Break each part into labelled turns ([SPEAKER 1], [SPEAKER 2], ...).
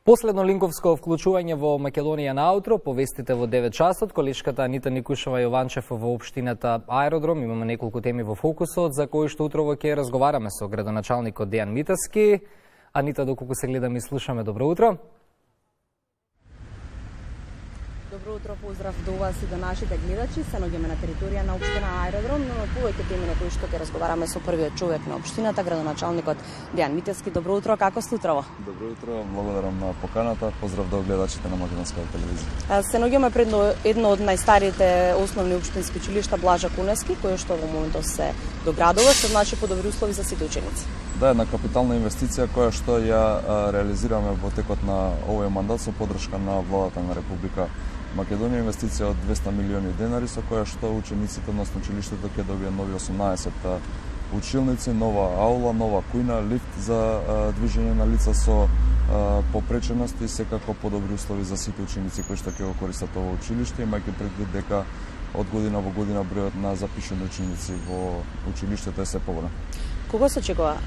[SPEAKER 1] Последно линковско вклучување во Македонија на аутро, повестите во 9 часот, колешката Анита Никушева Јованчев во општината Аеродром. Имаме неколку теми во фокусот, за кои што утрово ќе разговараме со градоначалникот Дејан Митевски. Анита, доколку се гледаме и слушаме, добро утро.
[SPEAKER 2] Добро утро, поздрав до вас и до нашите гледачи. Се наоѓаме на територија на општина Аеродром, но повеќе теми на кои што ќе разговараме со првиот човек на општината, градоначалникот Дејан Митевски. Добро утро, како сте утрово?
[SPEAKER 3] Добро утро, благодарам на поканата. Поздрав до гледачите на Македонска телевизија.
[SPEAKER 2] Се наоѓаме пред едно од најстарите основни општински училишта Блажа Куневски, кој што во моментот се доградува, што значи подобри услови за сите ученици.
[SPEAKER 3] Да, една капитална инвестиција која што ја реализираме во текот на овој мандат со поддршка на владата на Република Македонија, инвестиција од 200 милиони денари со која што учениците, односно училиштето ќе добијат нови 18 училници, нова аула, нова кујна, лифт за движење на лица со попреченост и секако подобри услови за сите ученици кои што ќе го користат ова училиште, имајќи предвид дека од година во година бројот на запишани ученици во училиштето е се поголем.
[SPEAKER 2] Кога се очекува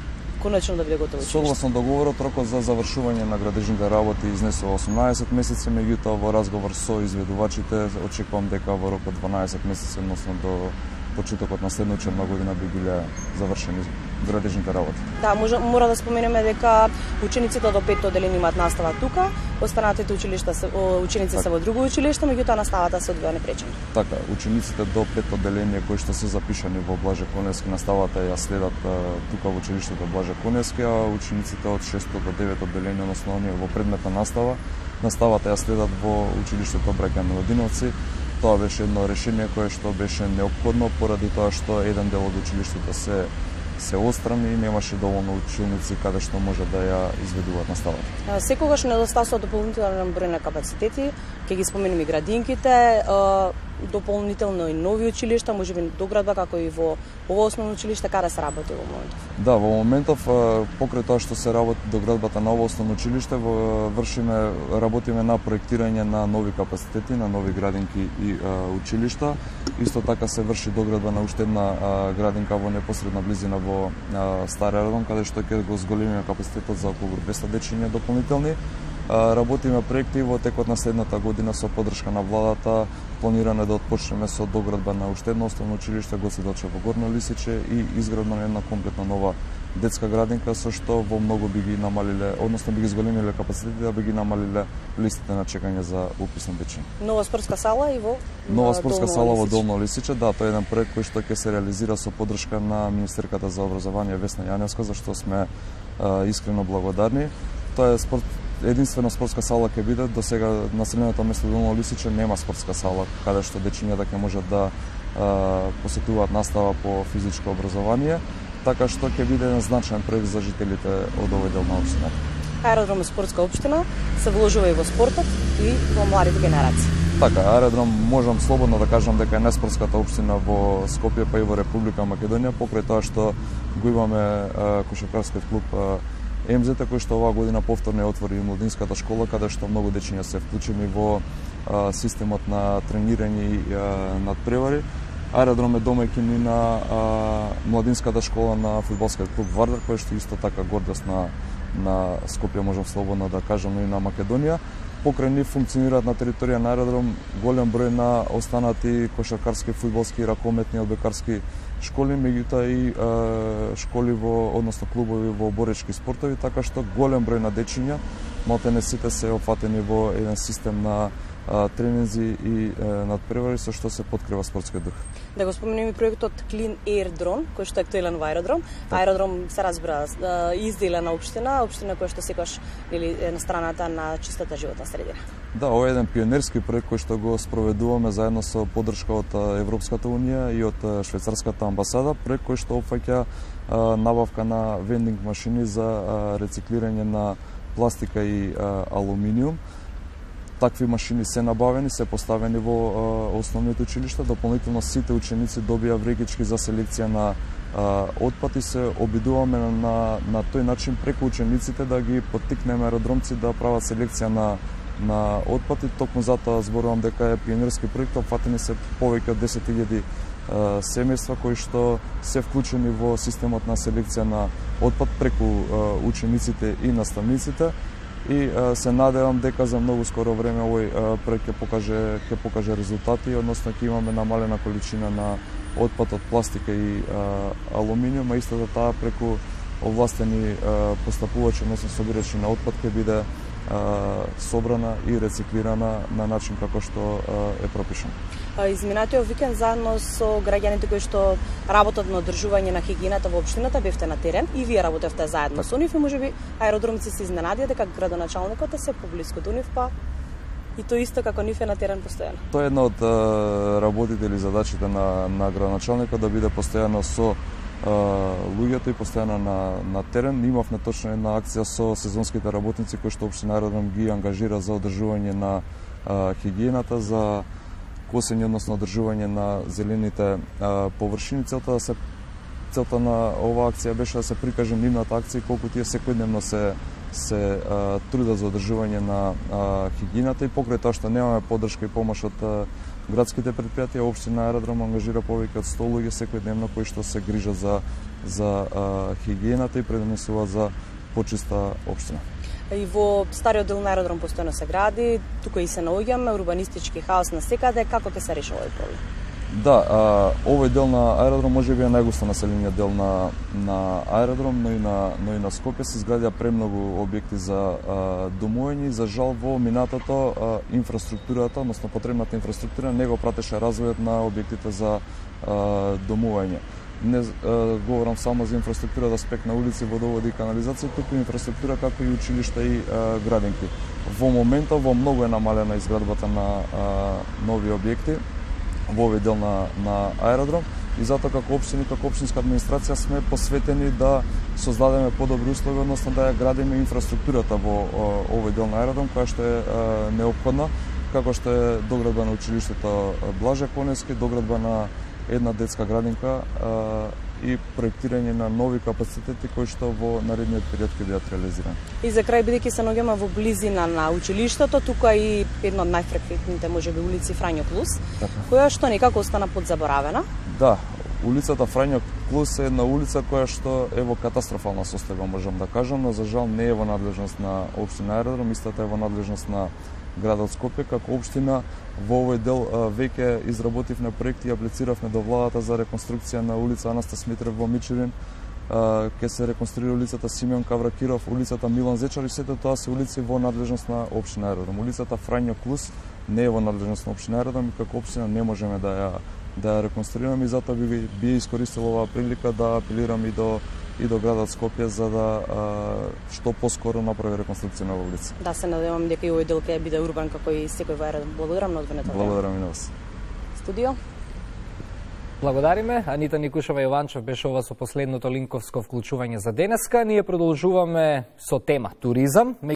[SPEAKER 2] конечно да биде готово училиште?
[SPEAKER 3] Согласно договорот, рокот за завршување на градежните работи изнесува 18 месеци, меѓутоа во разговор со изведувачите очекувам дека во рок од 12 месеци, односно до почетокот на следна учебна година би биле завршени градежните работи.
[SPEAKER 2] Да, мора да споменеме дека учениците до 5-то одделение имаат настава тука, останатите ученици се во друго училиште, меѓутоа наставата се одвива непречено.
[SPEAKER 3] Така, учениците до 5-то одделение кои што се запишани во Блаже Куневски, наставата ја следат тука во училиштето Блаже Куневски, а учениците од 6-то до 9-то одделение, односно оние во предметна настава, наставата ја следат во училиштето Браќа Милодиновци. Тоа беше едно решение кое што беше неопходно поради тоа што еден дел од училиштето се отстрани и немаше доволно ученици каде што може да ја изведуваат наставата.
[SPEAKER 2] Секогаш недостасува дополнителен број на капацитети, ќе ги споменеме градинките, дополнително и нови училишта, можеби доградба како и во ова основно училиште, каде се работи во моментов?
[SPEAKER 3] Да, во моментов покрај тоа што се работи доградбата на ова основно училиште, работиме на проектирање на нови капацитети, на нови градинки и училишта. Исто така се врши доградба на уште една градинка во непосредна близина во Стари Аеродром, каде што ќе го зголемиме капацитетот за околу 200 дечиња дополнителни. Работиме проекти во текот на следната година со поддршка на владата. Планирано да отпочнеме со доградба на уште едно основно училиште Гоце Делчев во Горно Лисиче и изградба на една комплетна нова детска градинка со што во многу би ги намалиле, односно би ги зголемиле капацитетите, да би ги намалиле листите на чекање за упис на дечиња.
[SPEAKER 2] Нова спортска сала и во
[SPEAKER 3] Нова спортска сала во Долно Лисиче, да, тоа е еден проект кој што ќе се реализира со поддршка на Министерката за образование Весна Јаневска, за што сме искрено благодарни. Тоа е единствено спортска сала ќе биде. До сега населеното место Долно Лисиче нема спортска сала каде што дечињата ќе можат да посетуваат настава по физичко образование, така што ќе биде еден значаен проект за жителите од овој дел на општината.
[SPEAKER 2] Аеродром е спортска општина, се вложува и во спортот и во младите генерации.
[SPEAKER 3] Така, Аеродром можам слободно да кажам дека е најспортската општина во Скопје, па и во Република Македонија, покрај тоа што го имаме кошаркарскиот клуб МЗ, кој што оваа година повторно отвори и младинската школа, каде што многу дечиња се вклучени во системот на тренирање и надпревари. Аеродром е домаќин и на младинската школа на фудбалскиот клуб Вардар, кој што исто така гордост на Скопје, можам слободно да кажам, и на Македонија. Покрај нив функционираат на територија на Аеродром голем број на останати кошаркарски, фудбалски, ракометни, одбекарски школи, меѓутоа и школи односно клубови во боречки спортови, така што голем број на дечиња, малтене сите се опфатени во еден систем на тренинзи и надпревари со што се подкрива спортскиот дух.
[SPEAKER 2] Да го споменеме и проектот Clean Air Drone, кој што е актуелен во Аеродром. Аеродром се разбира изделена општина која што секогаш е на страната на чистата животна средина. Да,
[SPEAKER 3] ова е еден пионерски проект кој што го спроведуваме заедно со поддршка од Европската унија и од швајцарската амбасада, проект кој што опфаќа набавка на вендинг машини за рециклирање на пластика и алуминиум. Такви машини се набавени, се поставени во основните училишта. Дополнително сите ученици добија врекички за селекција на отпад и се обидуваме на тој начин преку учениците да ги поттикнеме аеродромци да прават селекција на отпад и токму затоа зборувам дека е пионерски проект. Опфатени се повеќе од 10.000 семејства кои што се вклучени во системот на селекција на отпад преку учениците и наставниците. и се надевам дека за многу скоро време овој проект ќе покаже резултати, односно ќе имаме намалена количина на отпад од пластика и алуминиум, а истото таа преку овластени постапувачи, односно собирачи на отпад ќе биде собрана и рециклирана на начин како што е пропишано.
[SPEAKER 2] Изминатиот викенд заедно со граѓаните кои што работат на одржување на хигиената во општината бевте на терен и вие работевте заедно со нив и можеби аеродромци се изненадија дека градоначалникот е се поблиску до нив, па и тоа исто како нив е на терен постојано.
[SPEAKER 3] Тоа е една од работите или задачите на градоначалникот да биде постојано со луѓето и постојано на терен. Имавме точно една акција со сезонските работници кои што општина Аеродром ги ангажира за одржување на хигиената, за косење, односно одржување на зелените површини. Целта на оваа акција беше да се прикаже нивната акција колку тие секојдневно се трудат за одржување на хигиената, и покрај тоа што немаме поддршка и помош од градските предпријатија, општина Аеродром ангажира повеќе од 100 луѓе секојдневно кои што се грижат за хигиената и предонесуваат за почиста општина.
[SPEAKER 2] И во стариот дел на Аеродром постојано се гради, тука и се наоѓаме, урбанистички хаос на секаде, како ќе се реши овој проблем?
[SPEAKER 3] Да, овој дел на Аеродром можеби е најгусто населениот дел на Аеродром, но и на Скопје се изградија премногу објекти за домување. За жал во минатото инфраструктурата, односно потребната инфраструктура не го пратеше развојот на објектите за домување. Не говорам само за инфраструктура да аспект на улици, водоводи и канализација, туку инфраструктура како и училишта и градинки. Во моментот во многу е намалена изградбата на нови објекти во овој дел на Аеродром, и затоа како општини, како општинска администрација сме посветени да создадеме подобри услови, односно да ја градиме инфраструктурата во овој дел на Аеродром, која што е неопходна, како што е доградба на училиштето Блаже Коневски, доградба на една детска градинка и проектирање на нови капацитети кои што во наредниот период ќе бидат реализирани. И
[SPEAKER 2] за крај, бидејќи се наоѓаме во близина на училиштето, тука и една од најфреквентните можеби улици Фрањо Клус, која што некако остана подзаборавена.
[SPEAKER 3] Да, улицата Фрањо Клус е една улица која што е во катастрофална состојба, можам да кажам, но за жал не е во надлежност на општина Аеродром, истата е во надлежност на градот Скопје. Како општина во овој дел веќе изработивме проекти и аплициравме до владата за реконструкција на улица Анастас Смитрев во Мичурин, ќе се реконструира улицата Симеон Кавракиров, улицата Милан Зечар, и сето тоа се улици во надлежност на општина Аеродром. Улицата Фрањо Клус не е во надлежност на општина Аеродром и како општина не можеме да ја реконструираме, и затоа би искористил оваа прилика да апелирам и до градот Скопје за да што поскоро направи реконструкција на улица.
[SPEAKER 2] Да, се надевам дека и овој дел ќе биде урбан како и секој во Аеродром. Благодарам на одвоеното време.
[SPEAKER 3] Благодарам и на вас.
[SPEAKER 2] Студио.
[SPEAKER 1] Благодариме. Анита Никушева Јованчев беше ова со последното линковско вклучување за денеска. Ние продолжуваме со тема туризам.